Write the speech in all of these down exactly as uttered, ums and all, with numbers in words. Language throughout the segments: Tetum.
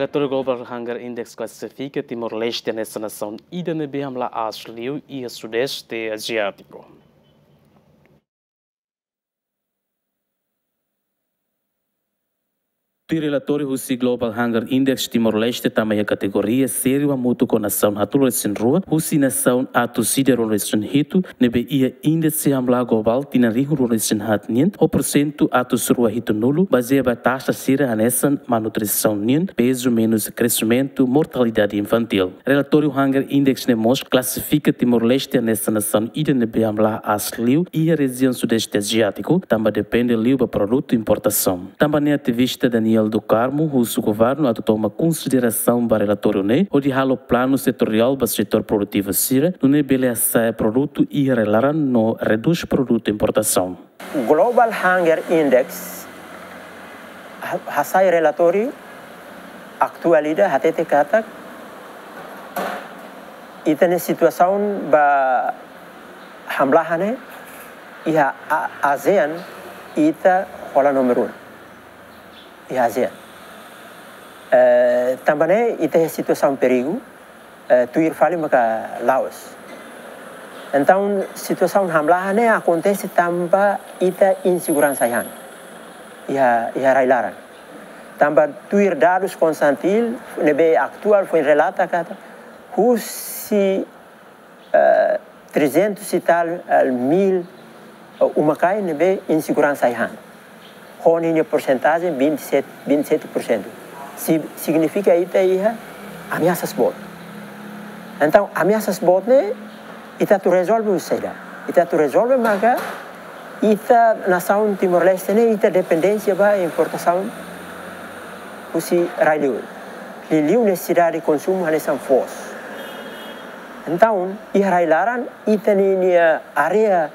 Relatóriu Global Hunger Index klasifika Timor-Leste hanesan nasaun ida ne'ebé hamlaha aas liu iha Sudeste Aziátiku. Tuir relatóriu husi Global Hunger Index, Timor-Leste tama iha kategoria sériu hamutuk ho nasaun haatnulu-resin-rua husi nasaun atus ida ruanulu-resin-hitu ne'ebé iha índise hamlaha globál tinan rihun rua-nulu-resin-haat nian ho porsentu atus rua hitunulu, bazeia ba taxa sira hanesan malnutrisaun nian, pezu menus, kresimentu, mortalidade infantil. Relatóriu Hunger Index ne'e mós klasifika Timor-Leste hanesan nasaun ida ne'ebé hamlaha aas liu iha rejiaun Sudeste Aziátiku, tanba depende liu ba produtu importasaun. Tanba ne'e ativista Daniel do Carmo husu governu atu toma konsiderasaun ba relatóriu ne'e, hodi halo planu setoriál ba setór produtivu sira, nune'e bele hasa'e produtu iha rai-laran no redús produtu importasaun. Global Hunger Index ha-, hasai relatóriu atuál ida hatete katak ita-nia situasaun ba hamlaha ne'e iha A-, ASEAN ita hola númeru ida iha ASEAN. Eh, tanba ne'e ita iha situasaun perigu, eh, tuir fali maka Laos. Entaun, situasaun hamlaha ne'e akontese tanba ita inseguransa ai-han iha, iha rai-laran. Tanba tuir dadus Konsantil ne'ebé atuál foin relata katak husi, eh, trezentos e tal, eh, mil, eh, uma-kain ne'ebé inseguransa ai-han. Ho ninia porsentajen vinte e sete, vinte e sete por cento. Si-, signifika ita iha ameasas boot. Entaun, ameasas boot ne'e ita atu rezolve saida? Ita atu rezolve maka ita nasaun Timor-Leste ne'e ita dependénsia ba importasaun husi rai-liur. Liuliu nesesidade konsumu hanesan foos. Entaun, iha rai-laran, ita-nia, nia área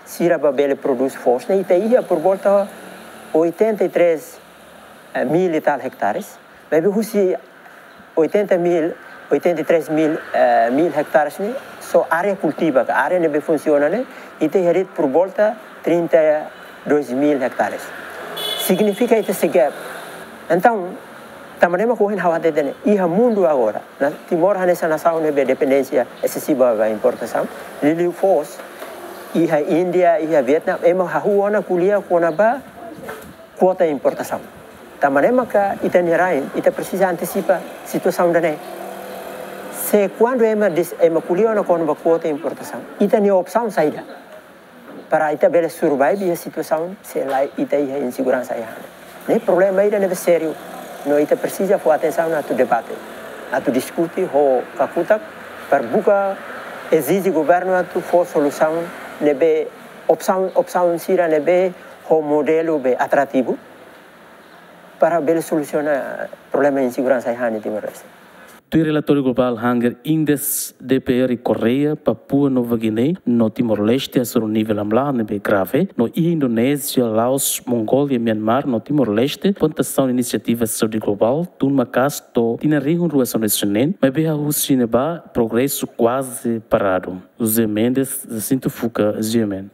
sira ba bele prodús foos ne'e, ita iha por volta oitenta e três mil e tal hectares. Maibé husi oitenta mil, oitenta e três mil, eh, mil hectares ne'e, só área kultiva, ka área ne'ebé funsiona ne'e, ita iha de'it por volta trinta e dois mil hectares. Signifika ita sei gap. Entaun, tanba ne'e mak ohin ha'u hatete ne'e, iha mundu agora, na Timor hanesan nasaun ne'ebé dependénsia esesiva ba importasaun, liuliu foos, iha Índia, iha Vietname, ema hahú ona ko'alia kona-ba kuota importasaun. Tanba ne'e maka ita-nia rain, ita presiza antesipa situasaun ida-ne'e. Se kuandu ema dis-, ema ko'alia ona kona-ba kuota importasaun, ita-nia opsaun saida para ita bele survive iha situasaun se lae ita iha inseguransa ai-han. Ne'e problema ida ne'ebé sériu. No ita presiza fó atensaun atu debate, atu diskute ho kakutak, para buka ezije governu atu fó solusaun ne'ebé opsaun, opsaun sira ne'ebé ho modelu be atrativu para bele solusiona problema inseguransa ai-han iha Timor-Leste. Tuir relatóriu Global Hunger Index, D P R Koreia, Papua Nova Guiné no Timor-Leste hasoru nivel hamlaha ne'ebé grave, no iha Indonézia, Laos, Mongólia, Myanmar no Timor-Leste, plantasaun inisiativa saúde globál tun maka'as to'o tinan rihun rua sanulu-resin-neen, maibé hahú husi ne'ebá progresu kuaze paradu. José Mendes, Jacinto Fuca, G M N.